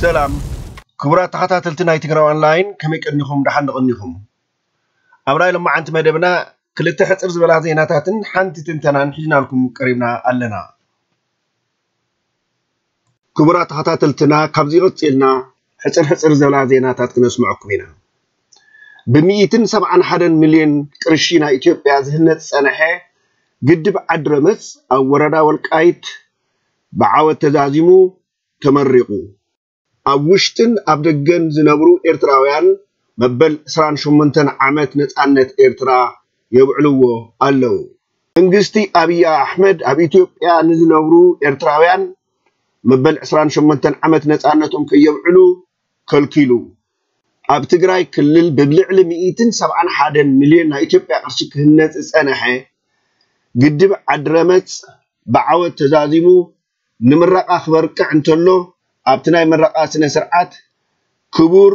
ሰላም ክቡራት ተኸታተልቲ ናይ ትግራይ ኦንላይን፣ ከመይ ቀኒኹም? ደሓን ዶ ቀኒኹም? ኣብ ናይ ሎማዓንቲ መደብና ክልተ ሕፅር ዝበላ ዜናታትን ሓንቲ ትንተናን ሒዝናልኩም ቀሪብና ኣለና። ክቡራት ተኸታተልትና፣ ካብዚ ቀፂልና ሕፅር ሕፅር ዝበላ ዜናታት ክነስምዐኩም ኢና። ብሚእትን ሰብዓን ሓደን ሚልዮን ቅርሺ ናይ ኢትዮጵያ ዝህነፅ ዝፀንሐ ግድብ ዓድረመፅ ኣብ ወረዳ ወልቃይት ብዓወት ተዛዚሙ ተመሪቑ። ኣብ ውሽጥን ኣብ ደገን ዝነብሩ ኤርትራውያን መበል ዕስራን ሸሞንተን ዓመት ነጻነት ኤርትራ የብዕልዎ ኣለዉ። መንግስቲ ኣብይ ኣሕመድ ኣብ ኢትዮጵያ ንዝነብሩ ኤርትራውያን መበል ዕስራን ሸሞንተን ዓመት ነጻነቶም ከየብዕሉ ከልኪሉ። ኣብ ትግራይ ክልል ብልዕሊ ሚእትን ሰብዓን ሓደን ሚልዮን ናይ ኢትዮጵያ ቅርሺ ክህነጽ ዝጸንሐ ግድብ ዓድረመጽ ብዓወት ተዛዚሙ ንምረቓ ክበርቅዕ እንተሎ፣ ኣብቲ ናይ ምረቓ ስነ ስርዓት ክቡር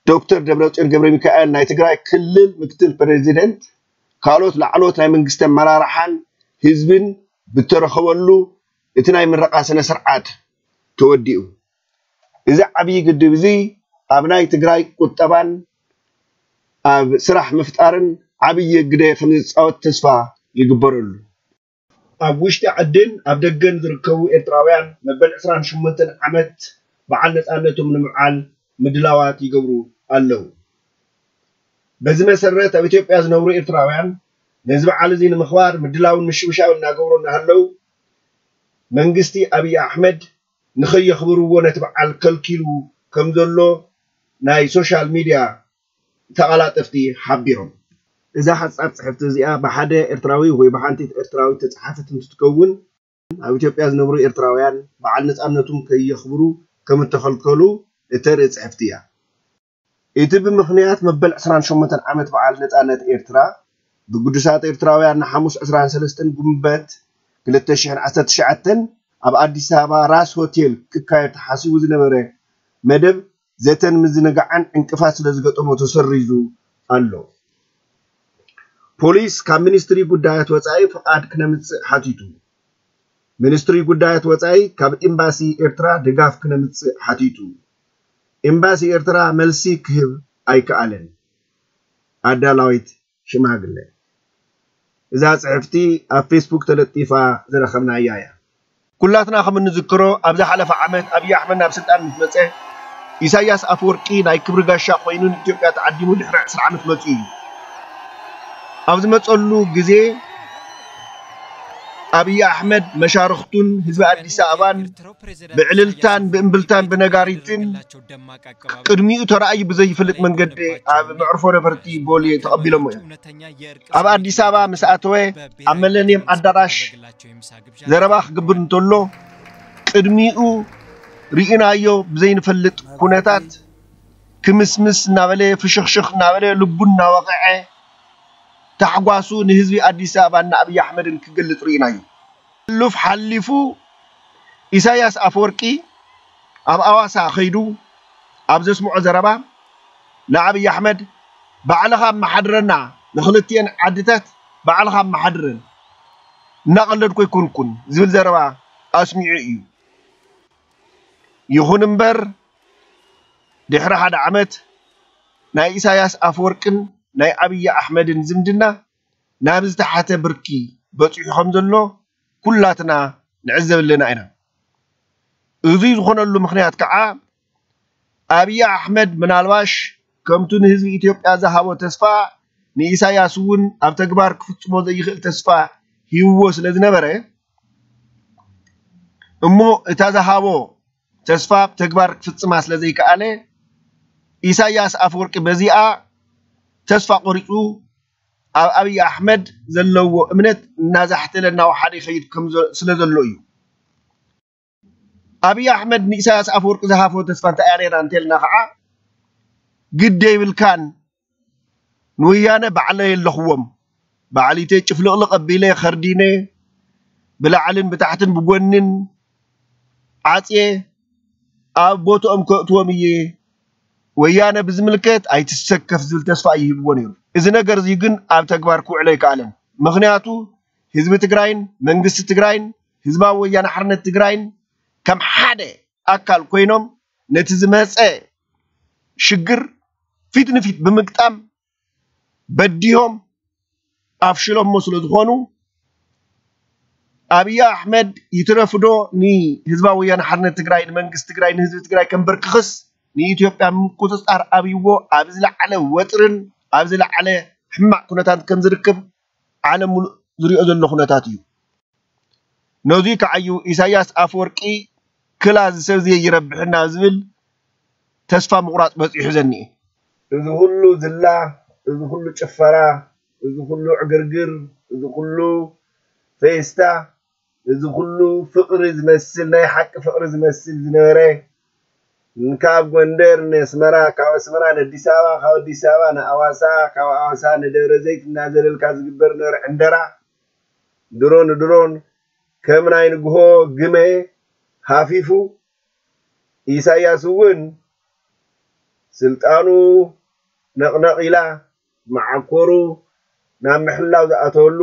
ዶክተር ደብረጽዮን ገብረ ሚካኤል ናይ ትግራይ ክልል ምክትል ፕሬዚደንት፣ ካልኦት ላዕለዎት ናይ መንግስቲ ኣመራርሓን ህዝብን ብተረኸበሉ እቲ ናይ ምረቓ ስነ ስርዓት ተወዲኡ። እዚ ዓብዪ ግድብ እዚ ኣብ ናይ ትግራይ ቁጠባን ኣብ ስራሕ ምፍጣርን ዓብዪ ግደ ከም ዝፃወት ተስፋ ይግበረሉ። ኣብ ውሽጢ ዓድን ኣብ ደገን ዝርከቡ ኤርትራውያን መበል ዕስራን ሸሞንተን ዓመት በዓል ነጻነቶም ንምብዓል ምድላዋት ይገብሩ ኣለዉ። በዚ መሰረት ኣብ ኢትዮጵያ ዝነብሩ ኤርትራውያን ነዚ በዓል እዚ ንምኽባር ምድላውን ምሽብሻብ እናገበሩ እናሃለዉ፣ መንግስቲ ኣብይ ኣሕመድ ንኸየኽብርዎ ነቲ በዓል ከልኪሉ ከም ዘሎ ናይ ሶሻል ሚድያ ተቓላጠፍቲ ሓቢሮም። እዛ ሓጻር ጽሕፍቲ እዚኣ ብሓደ ኤርትራዊ ወይ ብሓንቲ ኤርትራዊት ተጻሓፈት እንትትከውን፣ ኣብ ኢትዮጵያ ዝነብሩ ኤርትራውያን በዓል ነጻነቶም ከየኽብሩ ከም እተኸልከሉ እተርኢ ጽሕፍቲ እያ። እቲ ብምኽንያት መበል ዕስራን ሸሞንተን ዓመት በዓል ነጻነት ኤርትራ ብግዱሳት ኤርትራውያን ንሓሙስ ዕስራን ሰለስተን ጉንበት ክልተ ሽሕን ዓሰርተ ትሽዓተን ኣብ ኣዲስ ኣበባ ራስ ሆቴል ክካየድ ተሓሲቡ ዝነበረ መደብ ዘተን ምዝንጋዕን ዕንቅፋት ስለ ዝገጠሞ ተሰሪዙ ኣሎ። ፖሊስ ካብ ሚኒስትሪ ጉዳያት ወጻኢ ፍቓድ ክነምጽእ ሓቲቱ። ሚኒስትሪ ጉዳያት ወጻኢ ካብ ኤምባሲ ኤርትራ ድጋፍ ክነምጽእ ሓቲቱ። ኤምባሲ ኤርትራ መልሲ ክህብ ኣይከኣለን። ኣዳላዊት ሽማግለ። እዛ ጽሕፍቲ ኣብ ፌስቡክ ተለጢፋ ዝረኸብናያ እያ። ኩላትና ከም እንዝክሮ፣ ኣብ ዝሓለፈ ዓመት ኣብይ ኣሕመድ ናብ ስልጣን ምስ መጸ፣ ኢሳያስ ኣፈወርቂ ናይ ክብሪ ጋሻ ኮይኑ ንኢትዮጵያ ተዓዲሙ ድሕሪ ዕስራ ዓመት መጺኡ እዩ። ኣብ ዝመጸሉ ግዜ፣ ኣብይ ኣሕመድ መሻርኽቱን ህዝቢ ኣዲስ ኣበባን ብዕልልታን ብእምብልታን ብነጋሪትን ቅድሚኡ ተራእዩ ብዘይፍልጥ መንገዲ ኣብ መዕርፎ ነፈርቲ ቦሌ ተቐቢሎሞ እዮም። ኣብ ኣዲስ ኣበባ ምስ ኣተወ፣ ኣብ መለንየም ኣዳራሽ ዘረባ ክገብር እንተሎ፣ ቅድሚኡ ርኢናዮ ብዘይንፈልጥ ኩነታት ክምስምስ እናበለ፣ ፍሽኽሽኽ እናበለ፣ ልቡ እናወቕዐ፣ ታሕጓሱ ንህዝቢ ኣዲስ ኣበባን ንኣብይ ኣሕመድን ክገልጽ ርኢናዮ። ሕሉፍ ሓሊፉ ኢሳያስ ኣፈወርቂ ኣብ ኣዋሳ ከይዱ ኣብ ዘስምዖ ዘረባ ንኣብይ ኣሕመድ፣ "ባዕልኻ ኣመሓድረና፣ ንኽልቲኤን ዓድታት ባዕልኻ ኣመሓድረን፣ እናቐለድኩ ኣይኮንኩን" ዝብል ዘረባ ኣስሚዑ እዩ። ይኹን እምበር፣ ድሕሪ ሓደ ዓመት ናይ ኢሳያስ ኣፈወርቅን ናይ ኣብይ ኣሕመድን ዝምድና ናብ ዝተሓተ ብርኪ በጺሑ ከም ዘሎ ኩላትና ንዕዘብ ኣለና ኢና። እዙይ ዝኾነሉ ምኽንያት ከዓ ኣብይ ኣሕመድ ምናልባሽ ከምቱ ንህዝቢ ኢትዮጵያ ዝሃቦ ተስፋ ንኢሳያስ እውን ኣብ ተግባር ክፍጽሞ ዘይኽእል ተስፋ ሂብዎ ስለ ዝነበረ፣ እሞ እታ ዝሃቦ ተስፋ ብተግባር ክፍጽማ ስለ ዘይከኣለ፣ ኢሳያስ ኣፈወርቂ በዚኣ ተስፋ ቆሪጹ ኣብ ኣብይ ኣሕመድ ዘለዎ እምነት እናዛሕተለ እናወሓደ ይኸይድ ከም ዘ-፣ ስለ ዘሎ እዩ። ኣብይ ኣሕመድ ንኢሳያስ ኣፈወርቂ ዝሃቦ ተስፋ እንታይ እያ ነይራ እንተልና ከዓ፣ ግደ ይብልካን፣ ንወያነ ባዕለይ ኣለኽዎም፣ ባዕሊተይ ጭፍልቕልቕ ኣቢለ ኸርዲነ፣ ብላዕልን ብታሕትን ብጎንን ዓጽየ ኣብ ቦትኦም ከእትዎም እየ፣ ወያነ ብዝምልከት ኣይትሰከፍ ዝብል ተስፋ እዩ ሂብዎ ነይሩ። እዚ ነገር እዚ ግን ኣብ ተግባር ክውዕል ኣይከኣለን። ምኽንያቱ ህዝቢ ትግራይን መንግስቲ ትግራይን ህዝባዊ ወያነ ሓርነት ትግራይን ከም ሓደ ኣካል ኮይኖም ነቲ ዝመፀ ሽግር ፊት ንፊት ብምግጣም በዲሆም ኣፍሽሎሞ ስለ ዝኾኑ፣ ኣብይ ኣሕመድ ይትረፍዶ ንህዝባዊ ወያነ ሓርነት ትግራይ፣ ንመንግስቲ ትግራይ፣ ንህዝቢ ትግራይ ከንበርክኽስ ንኢትዮጵያ ምቁፅፃር ኣብይዎ ኣብ ዝለዓለ ወጥርን ኣብ ዝለዓለ ሕማቕ ኩነታት ከም ዝርከብ ዓለም ሙሉእ ዝሪኦ ዘሎ ኩነታት እዩ። ነዙይ ከዓ እዩ ኢሳያስ ኣፈወርቂ ክላ እዚ ሰብ እዚ ይረብሕና ዝብል ተስፋ ምቑራፅ በፂሑ ዘኒኤ። እዚ ኩሉ ዝላ፣ እዚ ኩሉ ጭፈራ፣ እዚ ኩሉ ዕግርግር፣ እዚ ኩሉ ፌስታ፣ እዚ ኩሉ ፍቕሪ ዝመስል፣ ናይ ሓቂ ፍቕሪ ዝመስል ዝነበረ፣ ካብ ጎንደር ንኣስመራ፣ ካብ ኣስመራ ንኣዲስ ኣበባ፣ ካብ ኣዲስ ኣበባ ንኣዋሳ፣ ካብ ኣዋሳ ንደብረ ዘይት እናዘለልካ ዝግበር ነበረ ዕንደራ፣ ድሮ ንድሮን ከም ናይ ንግሆ ግመ ሃፊፉ፣ ኢሳያስ እውን ስልጣኑ ነቕነቕ ኢላ መዓኮሩ ናብ ምሕላው ዝኣተወሉ፣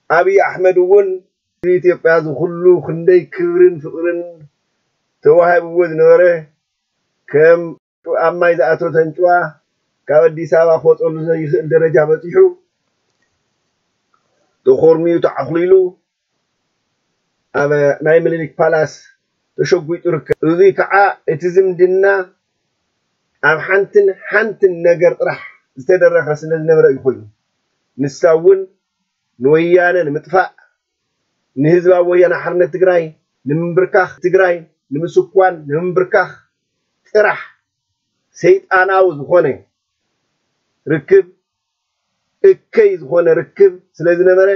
ኣብይ ኣሕመድ እውን ኢትዮጵያ ዝኹሉ ክንደይ ክብርን ፍቕርን ተዋሂብዎ ዝነበረ ከም ኣብ ማይ ዝኣተወ ተንጭዋ ካብ ኣዲስ ኣበባ ክወፀሉ ዘይኽእል ደረጃ በፂሑ ተኾርሚዩ ተዓኹሊሉ ኣብ ናይ ምኒልክ ፓላስ ተሸጒጡ ይርከብ። እዙይ ከዓ እቲ ዝምድና ኣብ ሓንትን ሓንትን ነገር ጥራሕ ዝተደረኸ ስለ ዝነበረ እዩ ኮይኑ። ንሳ እውን ንወያነ ንምጥፋእ፣ ንህዝባዊ ወያነ ሓርነት ትግራይ ንምንብርካኽ፣ ትግራይ ንምስኳን፣ ንምንብርካኽ ጥራሕ ሰይጣናዊ ዝኾነ ርክብ፣ እከይ ዝኾነ ርክብ ስለ ዝነበረ፣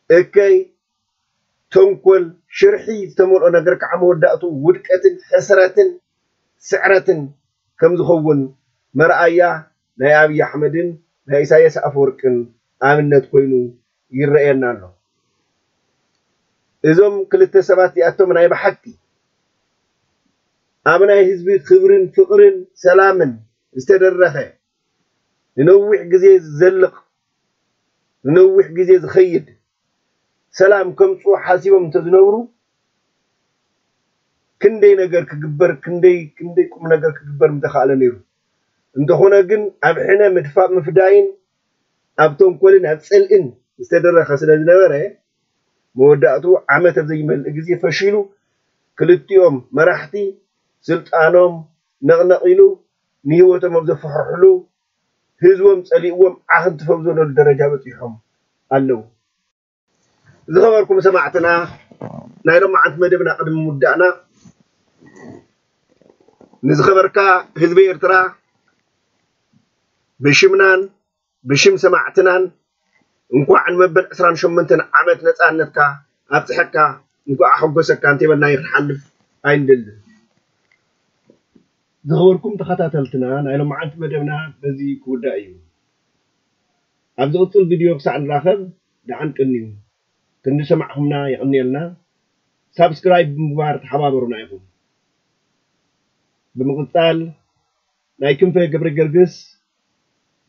እከይ ተንኮል፣ ሽርሒ ዝተመልኦ ነገር ከዓ መወዳእቱ ውድቀትን ሕስረትን ስዕረትን ከም ዝኸውን መርኣያ ናይ ኣብይ ኣሕመድን ናይ ኢሳያስ ኣፈወርቅን ኣብነት ኮይኑ ይረኣየና ኣሎ። እዞም ክልተ ሰባት እዚኣቶም ናይ ብሓቂ ኣብ ናይ ህዝቢ ክብርን ፍቕርን ሰላምን ዝተደረኸ ንነዊሕ ግዜ ዝዘልቕ ንነዊሕ ግዜ ዝኸይድ ሰላም ከምፅኡ ሓሲቦም እንተዝነብሩ ክንደይ ነገር ክግበር ክንደይ ክንደይ ቁም ነገር ክግበር ምተኻእለ ነይሩ። እንተኾነ ግን ኣብ ሕነ ምድፋእ ምፍዳይን ኣብ ተንኮልን ኣብ ፅልእን ዝተደረኸ ስለ ዝነበረ መወዳእቱ ዓመት ኣብ ዘይመልእ ግዜ ፈሺሉ ክልቲኦም መራሕቲ ስልጣኖም ነቕነቕ ኢሉ ንህይወቶም ኣብ ዘፈሕርሕሉ ህዝቦም ፀሊእዎም ዓኽ እንትፈው ዘለሉ ደረጃ በፂሖም ኣለዉ። ዝኸበርኩም ሰማዕትና ናይ ሎማዓንቲ መደብና ቅድሚ ምውዳእና ንዝኸበርካ ህዝቢ ኤርትራ ብሽምናን ብሽም ሰማዕትናን እንኳዕ ንመበል ዕስራን ሸሞንተን ዓመት ነፃነትካ ኣብፅሐካ እንኳዕ ኣሐጎሰካ እንተበልና ይክንሓልፍ ኣይንደልን። ዝኸበርኩም ተኸታተልትና ናይ ሎማዓንቲ መደብና በዚ ክውዳእ እዩ። ኣብ ዝቕፅል ቪድዮ ክሳዕ ንራኸብ ደሓን ቅንዩ። ክንዲ ሰማዕኹምና የቐንየልና። ሳብስክራይብ ብምግባር ተሓባበሩና ኢኹም። ብምቕፃል ናይ ክንፈ ገብረ ገርግስ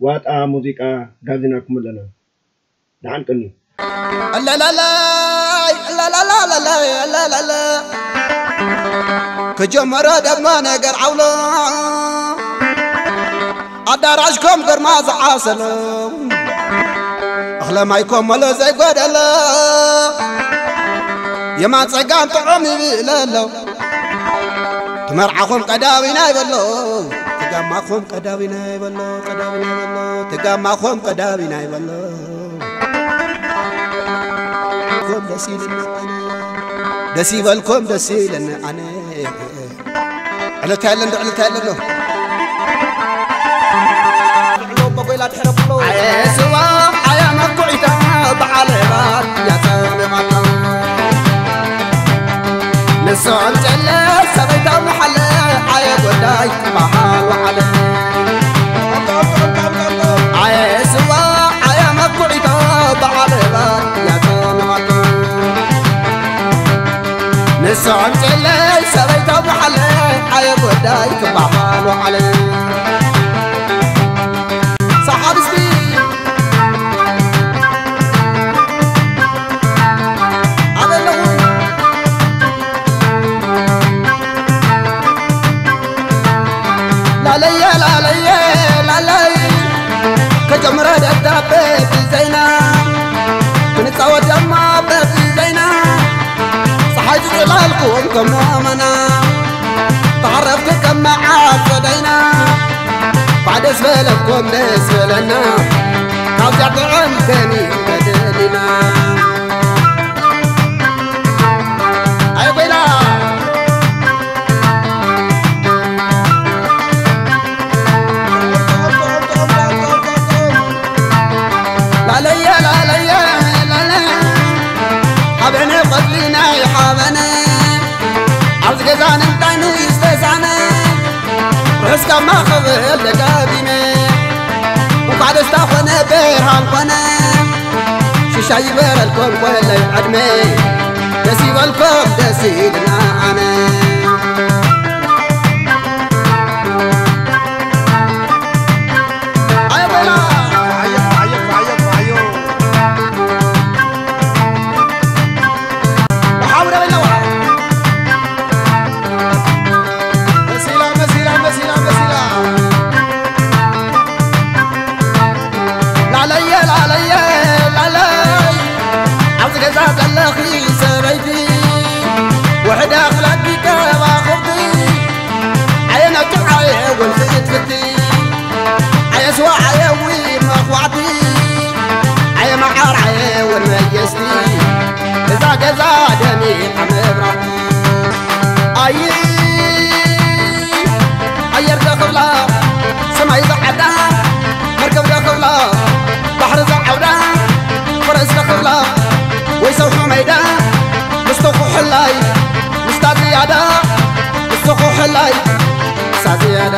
ዋጣ ሙዚቃ ጋቢዝናኩም ኣለና። ደሓን ቅንዩ። እለለለይ፣ እለለለለለይ፣ እለለለ። ከጀመረ ደግሞ ነገር ዓውሎ፣ ኣዳራሽ ከም ገርማ ዝዓሰሎ፣ እኽለ ማይ ኮመሎ ዘይጎደሎ፣ የማን ጸጋም ጥዑም ይብለሎ። ትመርዓኹም ቀዳዊና ይበሎ፣ ትጋማኹም ቀዳዊና ይበሎ፣ ቀዳዊና ይበሎ፣ ትጋማኹም ቀዳዊና ይበሎ። ኮም ደስ ይለኒ ኣነ፣ ደስ ይበልኮም ደስ ይለኒ ኣነ። ዕለታ የለን ዶ ዕለታ የለን ዶ። ስዋ ኣያ መኩዒታ በዓል ዕባት እያ ጸሚቓታ። ንሶም ጨለ ሰበይታ መሓለ ኣየ ጎዳይ በዓል ወዓለ። ኣየ ስዋ ኣያ መኩዒታ በዓል ዕባት እያ ጸሚቓታ። ንሶም ጨለ ሰበይታ መሓለ ኣየ ጎዳይ ክበሃል ወዓለ። ሰሓብ እስኪ ኣበይ ኣለኹም? ላልኩም ከም ሞመና ተዓረፍቲ ከም መዓር ጸደይና፣ ባዕደስ በለኩም ደስ በለና፣ ካብዚኣ ጥዕም ከኒ ተደሊና። ኣይ ኮይና ላለየ ላለየ ላለ ሓበነ ቆጽሊ ናይ ሓበነ ኣብዚ ገዛ ንምንታይ ንዝተሳነ ርሑስ ካብ ማኸበል ደጋጊመ እንኳዕ ደስታ ኮነ ብርሃን ኮነ ሽሻይ ይበረልኩም ኮለይ ዕድመ ደስ ይበልኩም ደስ ይልና ኣነ ኣዮ በላ ኣዮ ኣዮ ኣዮ ኣዮ ሓውረ በላዋ መሲላ መሲላ መሲላ መሲላ ላለየ ላለየ ላለይ ኣብዚ ገዛ ዘለኺ ሰበይቲ ውሕደ ክላኪ ከባኹብቲ ኣየ ናቸው ኣየ ወልፍትፍቲ ኣየ ስዋ ኣየ ዊ መኽዋዕቲ ኣየ መዓር ኣየ ወን መየስቲ እዛ ገዛ ደሚቓ መብራህቲ ኣይ ኣየር ደኽብላ ሰማይ ዝዓዳ መርከብ ደኽብላ ባሕሪ ዝዓውዳ ፈረስ ደኽብላ ወይ ሰውሑ መይዳ ምስቲ ኩሕላይ ምስታ ዝያዳ ምስቲ ኩሕላይ ክሳ ዝያዳ